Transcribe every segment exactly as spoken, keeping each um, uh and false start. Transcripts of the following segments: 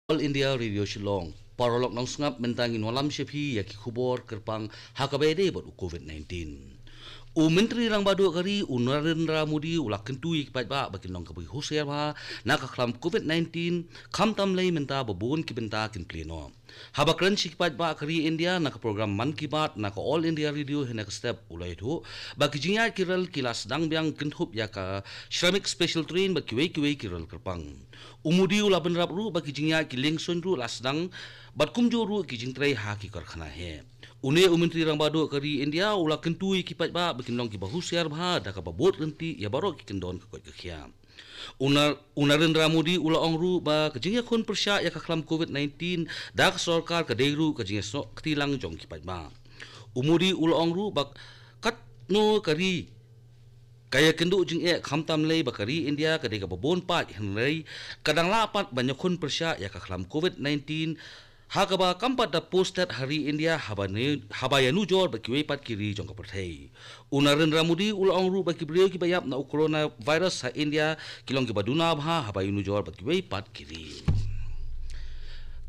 All India Radio Shillong. Paralok nongsngap, mynta ngin wallam sha phi ïa ki khubor kyrpang ha kaba ïadei bad u covid nineteen. U Myntri Rangbah Duh ka ri u Narendra Modi u la kyntu ïa ki paidbah ba kin long kaba husiar bha na ka khlam covid nineteen, khamtam lei mynta ba bun ki bynta kin plie noh. Haba kren sha ki paidbah ka ri India na ka program Mann Ki Baat na ka All India Radio hynne ka step u la ïathuh ba ki jingïaid ki rel ki la sdang biang kynthup ïa ka Shramik Special Train bad kiwei kiwei ki rel kyrpang. U Modi u la bynrap ruh ba ki jingïaid ki liengsuiñ ruh la sdang bad kumjuh ruh ki jingtrei ha ki karkhana heh. Une u Myntri Rangbah Duh ka ri India u la kyntu ïa ki paidbah ba kin long kiba husiar bha da kaba bud ryntih ïa baroh ki kyndon ka koit ka khiah. U Nar-, u Narendra Modi u la ong ruh ba ka jingïakhun pyrshah ïa ka khlam covid nineteen da ka sorkar ka dei ruh ka jingïasnoh kti lang jong ki paidbah. U Modi u la ong ruh ba katno ka ri ka ïakynduh jingeh, khamtam lei ba ka ri India ka dei kaba bun paid, hynrei ka dang lah pat ban ïakhun pyrshah ïa ka khlam covid nineteen ha kaba kam pat da pur stet ha ri India haba ne, haba ïanujor bad kiwei pat ki ri jong ka pyrthei. U Narendra Modi u la ong ruh ba ki briew kiba ïap na u coronavirus ha India ki long kiba duna bha haba ïanujor bad kiwei pat ki ri.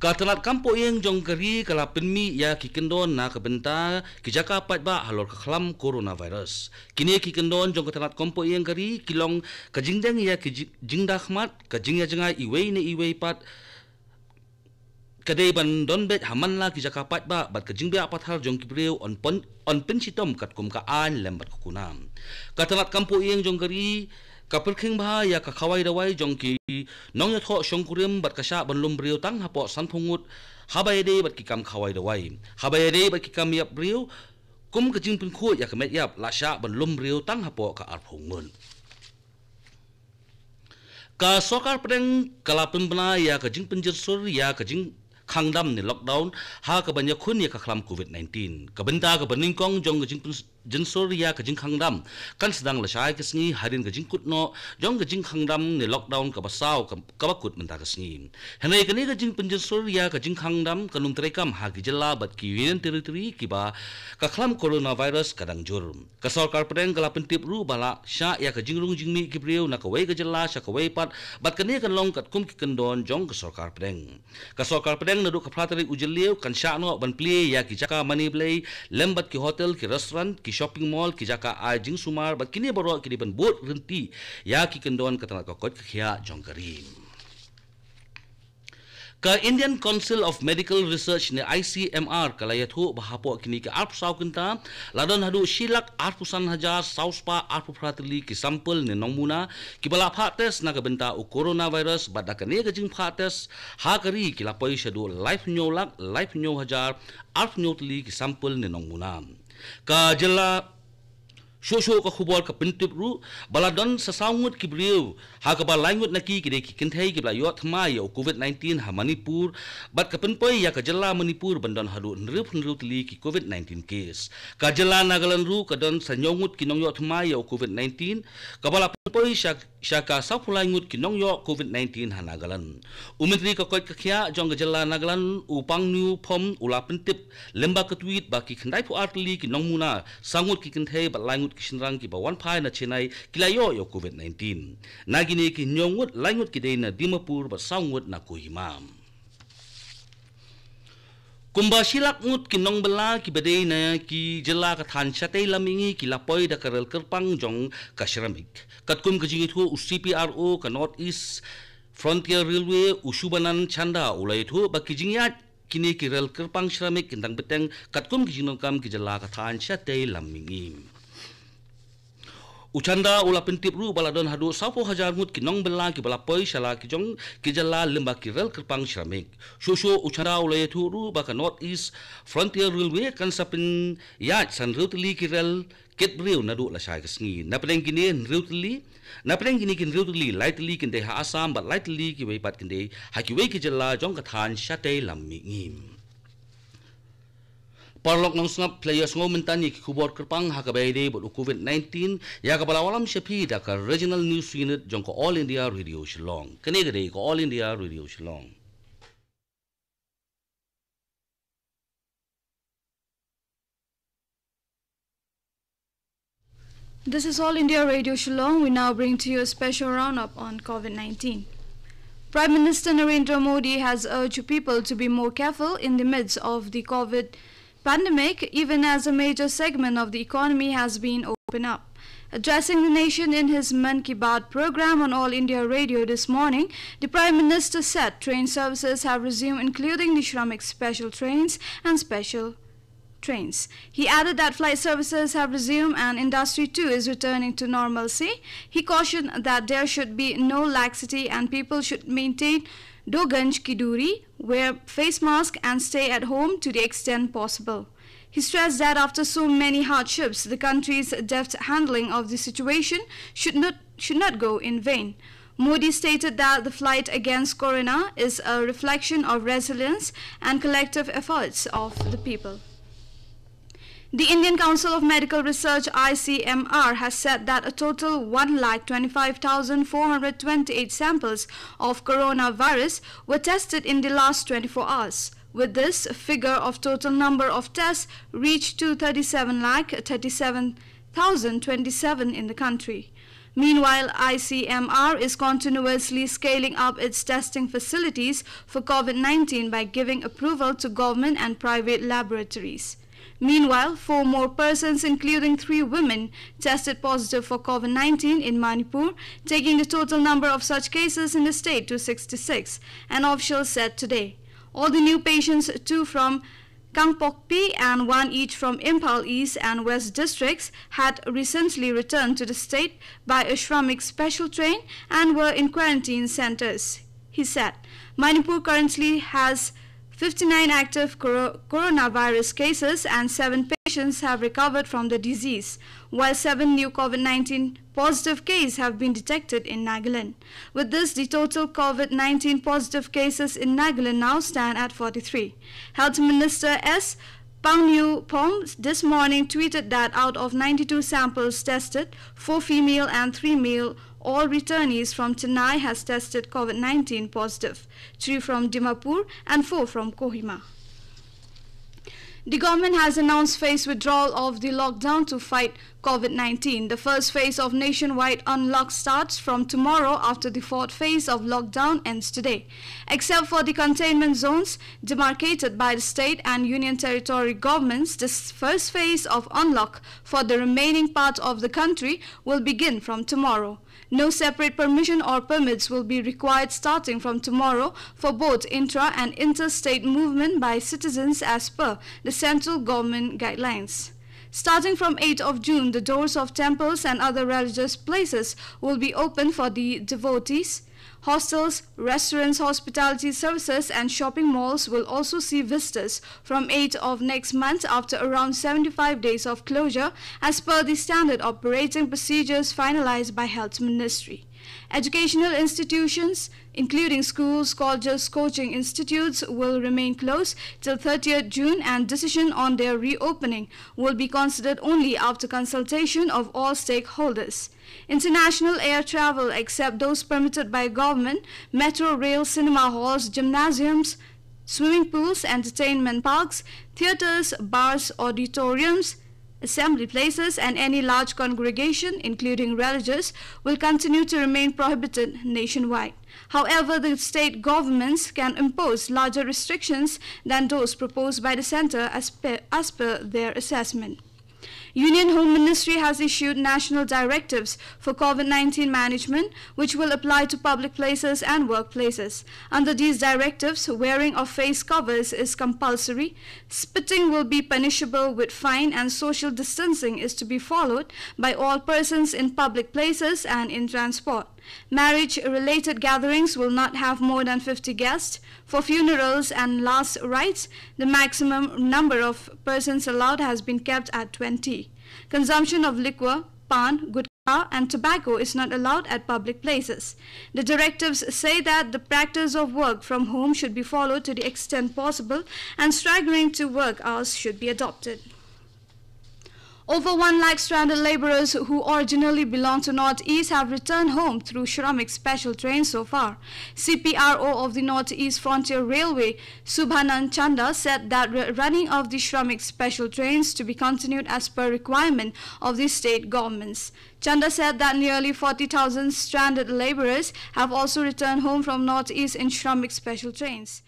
Ka tnat kam poh ïing jong ka ri ka la pynmih ïa ki kyndon na ka bynta ki jaka paidbah halor ka khlam coronavirus. Kine ki kyndon jong ka tnat kam poh ïing ka ri ki long ka jingdeng ïa ki ji-, jingdakhmat, ka jingïajngai iwei na iwei pat, ka dei ban don beit ha man la ki jaka paidbah bad ka jingbit pathar jong ki briew yn pyn-, yn pynshitom katkum ka aiñ lem bad ka kuna. Ka tnat kam poh ïing jong ka ri ka pyrkhing bha ïa ka khawai dawai jong ki nongïathoh shongkurim bad ka shah ban lum briew tang hapoh sanphew ngut haba ïadei bad ki kam khawai dawai. Haba ïadei bad ki kam ïap briew, kum ka jingpynkhuid ïa ka met ïap, la shah ban lum briew tang hapoh ka arphew ngut. Ka sorkar pdeng ka la pynbna ïa ka jingpynjynsur ïa ka jingkhang dam ne lockdown ha kaban ïakhun ïa ka khlam covid nineteen. Ka bynta kaba nyngkong jong ka jingpynjynsur ïa ka jingkhang dam kan sdang lashai ka sngi hadien ka jingkut noh jong ka jingkhang dam ne lockdown kaba saw ka, kaba kut mynta ka sngi. Hynrei kane ka jingpynjynsur ïa ka jingkhang dam kan ym treikam ha ki jylla bad ki Union Territory kiba ka khlam coronavirus ka dang jur. Ka sorkar pdeng ka la pyntip ruh ba la shah ïa ka jingrung jingmih ki briew na kawei ka jylla sha kawei pat, bad kane kan long katkum ki kyndon jong ka sorkar pdeng. Ka sorkar pdeng naduh ka phra tarik u Jylliew kan shah noh ban plie ïa ki jaka mane blei lem bad ki hotel, ki restaurant, ki shopping mall, ki jaka ai jingsumar, bad kine baroh ki dei ban bud ryntih ïa ki kyndon ka tnat ka koit ka khiah jong ka ri. Ka Indian Council of Medical Research ne I C M R ka la ïathuh ba hapoh kine ki arphew saw kynta la don haduh shi lak arphew san hajar saw spah arphew phra tylli ki sample ne nongmuna kiba la phah test na ka bynta u coronavirus, bad da kane ka jingphah test ha ka ri ki la poi shaduh laiphew hynñiew lak laiphew hynñiew hajar arphew hynñiew tylli ki sample ne nongmuna. Ka jylla Shuh shuh ka khubor ka pyntip ruh ba la don sa saw ngut ki briew, ha kaba lai ngut na ki ki dei ki kynthei kiba la ïoh thymmai ïa u covid nineteen ha Manipur, bad ka pynpoi ïa ka jylla Manipur ban don haduh hynriew hynriew tylli ki covid nineteen case. Ka jylla Nagaland ruh ka don sa hynñiew ngut ki nongïoh thymmai ïa u covid nineteen, kaba la pynpoi sha sha ka sawphew lai ngut ki nongïoh covid nineteen ha Nagaland. U Myntri ka koit ka khiah jong ka jylla Nagaland, u Pangnu Phom, u la pyntip lyngba ka tweet ba ki khyndaiphew ar tylli ki nongmuna, saw ngut ki kynthei bad lai ngut ki shynrang kiba wan phai na Chennai ki la ïoh ïa u covid nineteen. Na kine ki hynñiew ngut, lai ngut ki dei na Dimapur bad saw ngut na Kohima. Kumba shi lak ngut ki nongbylla kiba dei na ki jylla ka thaiñ shatei lam mihngi ki la poi da ka rel kyrpang jong ka Shramik. Katkum ka jingïathuh u C P R O ka North East Frontier Railway, u Shubhanand Chanda, u la ïathuh ba ki jingïaid kine ki rel kyrpang Shramik kin dang bteng katkum ki jingdonkam ki jylla ka thaiñ shatei lam mihngi. U Chanda u la pyntip ruh ba la don haduh sawphew hajar ngut ki nongbylla kiba la poi sha la ki jong ki jylla lyngba ki rel kyrpang Shramik. Shuh shuh u Chanda u la ïathuh ruh ba ka North East Frontier Railway kan sa pynïaid sa hynriew tylli ki rel kit briew naduh lashai ka sngi. Na pdeng kine hynriew tylli, na pdeng kine ki hynriew tylli, lai tylli kin dei ha Assam bad lai tylli kiwei pat kin dei ha kiwei ki jylla jong ka thaiñ shatei lam mihngi. Paralok nongsngap, phi la ïohsngew mynta ïa ki khubor kyrpang ha kaba ïadei bad u covid nineteen, ïa kaba la wallam sha phi da ka Regional News Unit jong ka All India Radio Shillong. Kane ka dei ka All India Radio Shillong. This is All India Radio Shillong. We now bring to you a special roundup on covid nineteen. Prime Minister Narendra Modi has urged people to be more careful in the midst of the COVID pandemic, even as a major segment of the economy has been opened up. Addressing the nation in his Mann Ki Baat program on All India Radio this morning, the Prime Minister said train services have resumed, including the Shramik special trains and special trains. He added that flight services have resumed and industry too is returning to normalcy. He cautioned that there should be no laxity and people should maintain do gaj ki doori, wear face mask and stay at home to the extent possible. He stressed that after so many hardships, the country's deft handling of the situation should not should not go in vain. Modi stated that the fight against corona is a reflection of resilience and collective efforts of the people. The Indian Council of Medical Research, I C M R, has said that a total one lakh twenty-five thousand four hundred twenty-eight samples of coronavirus were tested in the last twenty-four hours. With this, figure of total number of tests reached to thirty-seven lakh thirty-seven thousand twenty-seven in the country. Meanwhile, I C M R is continuously scaling up its testing facilities for COVID nineteen by giving approval to government and private laboratories. Meanwhile, four more persons, including three women, tested positive for COVID nineteen in Manipur, taking the total number of such cases in the state to sixty-six, an official said today. All the new patients, two from Kangpokpi and one each from Imphal East and West districts, had recently returned to the state by a Shramik special train and were in quarantine centers. He said Manipur currently has fifty-nine active coro- coronavirus cases and seven patients have recovered from the disease, while seven new COVID nineteen positive cases have been detected in Nagaland. With this, the total COVID nineteen positive cases in Nagaland now stand at forty-three. Health Minister S Pangnu Phom this morning tweeted that out of ninety-two samples tested, four female and three male, all returnees from Chennai, has tested COVID nineteen positive, three from Dimapur and four from Kohima. The government has announced phased withdrawal of the lockdown to fight COVID nineteen. The first phase of nationwide unlock starts from tomorrow after the fourth phase of lockdown ends today. Except for the containment zones demarcated by the state and union territory governments, this first phase of unlock for the remaining part of the country will begin from tomorrow. No separate permission or permits will be required starting from tomorrow for both intra and interstate movement by citizens as per the central government guidelines. Starting from eighth of June, the doors of temples and other religious places will be open for the devotees. Hostels, restaurants, hospitality services, and shopping malls will also see visitors from eighth of next month after around seventy-five days of closure, as per the standard operating procedures finalized by Health Ministry. Educational institutions, including schools, colleges, coaching institutes, will remain closed till thirtieth June, and decision on their reopening will be considered only after consultation of all stakeholders. International air travel, except those permitted by government, metro rail, cinema halls, gymnasiums, swimming pools, entertainment parks, theatres, bars, auditoriums, assembly places, and any large congregation, including religious, will continue to remain prohibited nationwide. However, the state governments can impose larger restrictions than those proposed by the centre as per, as per their assessment. Union Home Ministry has issued national directives for COVID nineteen management, which will apply to public places and workplaces. Under these directives, wearing of face covers is compulsory, spitting will be punishable with fine, and social distancing is to be followed by all persons in public places and in transport. Marriage related gatherings will not have more than fifty guests. For funerals and last rites, the maximum number of persons allowed has been kept at twenty. Consumption of liquor, pan, gutkha, and tobacco is not allowed at public places. The directives say that the practice of work from home should be followed to the extent possible, and staggering to work hours should be adopted. Over one lakh stranded laborers who originally belonged to Northeast have returned home through Shramik special trains so far. C P R O of the Northeast Frontier Railway, Subhanand Chanda, said that re- running of the Shramik special trains to be continued as per requirement of the state governments. Chanda said that nearly forty thousand stranded laborers have also returned home from Northeast in Shramik special trains.